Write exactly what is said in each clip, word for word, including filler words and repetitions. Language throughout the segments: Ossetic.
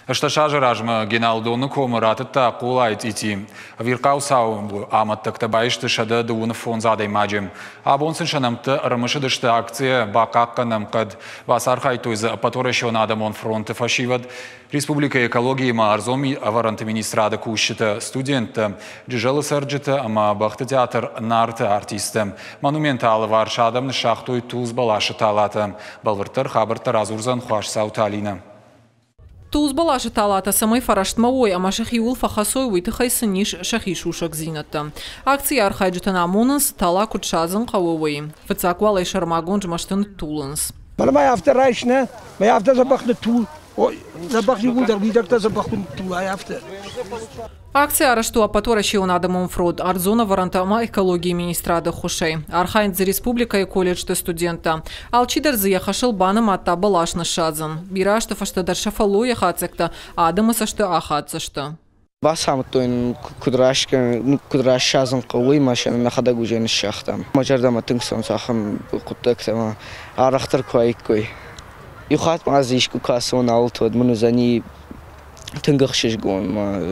Ӕстдӕс азы размӕ Геналдоны комы ратыдта Хъолайы цъити. Ӕвирхъау цауы амӕттӕгтӕ баисты сӕдӕ дыууын фондз адӕймаджы. Абон сын сӕ нӕмттӕ ӕрымысыдысты акцийӕ «Бахъахъхъӕнӕм хъӕд». Бацархайдтой дзы Ӕппӕтуӕрӕсеон адӕмон фронты фӕсивӕд, республикӕйы экологийы ӕмӕ ӕрдзон ӕвӕрӕнты министрады кусджытӕ, студенттӕ, Джызӕлы цӕрджытӕ ӕмӕ бӕхты театр «Нарты» артисттӕ. Монументы алыварс адӕм ныссагътой тулдз бӕласы талатӕ. Бӕлвырддӕр хабӕрттӕ радзурдзӕн Хуасдзауты Алинӕ. Тулдз бӕласы талатӕ цӕмӕй фӕрӕстмӕ уой ӕмӕ сӕхиуыл фӕхӕцой, уый тыххӕй сын ис сӕхи сусӕгдзинӕдтӕ. Акцийы архайджытӕн амонынц, тала куыд садзын хъӕуы, уый. Фыццаг уал ӕй сӕрмагонд змӕсты ныттулынц. Мӕнӕ ма афтӕ райс, нӕ? Мӕ афтӕ дзӕбӕх ныттул. Дзӕбӕх иууылдӕр уидӕгтӕ дзӕбӕх куы ныттулай, афтӕ. Акци арӕзт у Ӕппӕтуӕрӕсеон адӕмон фронт, ӕрдзон ӕвӕрӕнтӕ ӕмӕ экологийы министрады ӕххуысӕй. Архайынц дзы республикӕйы колледжты студенттӕ. Алчидӕр дзы йӕ хӕсыл банымадта бӕлас ныссадзын. Бирӕ азты фӕстӕ дӕр сӕ фӕллойы хатдзӕгтӕ адӕмы цӕсты ахаддзысты. Бацамыдтой нын, куыд куыд рассадзын хъӕуы, уый ма сӕ нӕхӕдӕг уже ныссагътам. Мӕ зӕрдӕмӕ тынг цӕуынц ахӕм хъуыддӕгтӕ ӕмӕ арӕхдӕр куы уаиккой. Иу хатт ма дзы искуы куы ацӕуон ауылты, уӕд мын уыдзӕни тынг ӕхсызгон.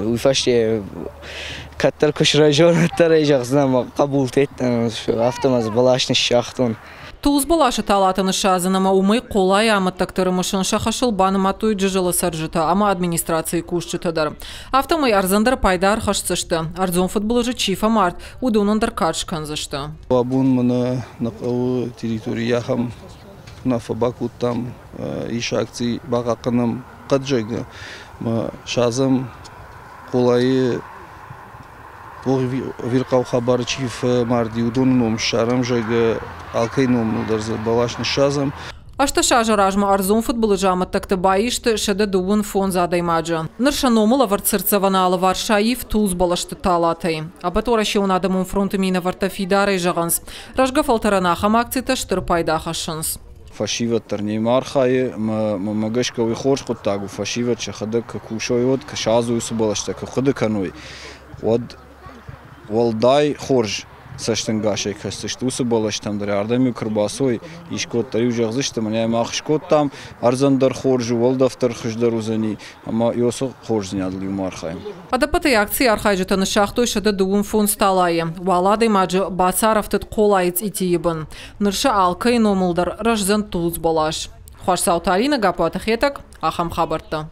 Уый фӕсте кӕддӕр куы сырӕзон, уӕддӕр ӕй зӕгъдзынӕн, мӕ хъӕбултӕ афтӕ ма дзы бӕлас ныссагътон. Тулдз бӕласы талатӕ ныссадзын ӕмӕ уымӕй Хъолайы амӕттӕгты ӕрымысын сӕ хӕсыл банымадтой Джызӕлы цӕрджытӕ ӕмӕ администрацийы кусджытӕ дӕр. Афтӕмӕй ӕрдзӕн дӕр пайда ӕрхӕсдзысты. Ӕрдзон фыдбылызы чи фӕмард, уыдонӕн дӕр кад скӕндзысты. Абон мӕнӕ нӕ хъӕуы территорийы ахӕм уынаффӕ бакодтам, ис акци «Бахъахъхъӕнӕм хъӕд», зӕгъгӕ, ӕмӕ садзӕм Хъолайы ӕвирхъау хабары чи фӕмарди, уыдоны ном ссарӕм, зӕгъгӕ, алкӕй номыл дӕр дзы бӕлас ныссадзӕм. Ӕстдӕс азы размӕ ӕрдзон фыдбылызы амӕттӕгты баисты сӕдӕ дыууын фондз адӕймаджы. Ныр сӕ номыл ӕвӕрд цыртдзӕвӕны алыварс саив тулдз бӕлӕсты талатӕй. Ӕппӕтуӕрӕсеон адӕмон фронты минӕвӕрттӕ фидарӕй зӕгъынц, рӕзгӕ фӕлтӕрӕн ахӕм акцитӕ стыр пайда хӕссынц. Фӕсивӕд дӕр немӕ архайы, ӕмӕ мӕнмӕ гӕсгӕ уый хорз хъуыддаг у. Фӕсивӕд сӕхӕдӕг куы кусой, уӕд куы садзой уыцы бӕлӕстӕ, куы хъуыды кӕной, уӕд уӕлдай хорз цӕстӕнгасӕй кӕсдзысты уыцы бӕлӕстӕм дӕр. Ардӕм-иу куы ӕрбацой, искуыддӕр-иу зӕгъдзысты, мӕнӕ мах скодтам, ӕрдзӕн дӕр хорз у, уӕлдӕф дӕр хуыздӕр уыдзӕни, ӕмӕ уыцы хорздзинадыл иумӕ архайӕм. Ӕдӕппӕтӕй акцийы архайджытӕ ныссагътой сӕдӕ дыууын фондз талайы. Уал адӕймаджы бацарӕфтыд Хъолайы цъитийы бын. Ныр сӕ алкӕйы номыл дӕр рӕздзӕн тулдз бӕлас. Хуасдзауты Алинӕ, Гаппуаты Хетӕг, ахӕм хабӕрттӕ.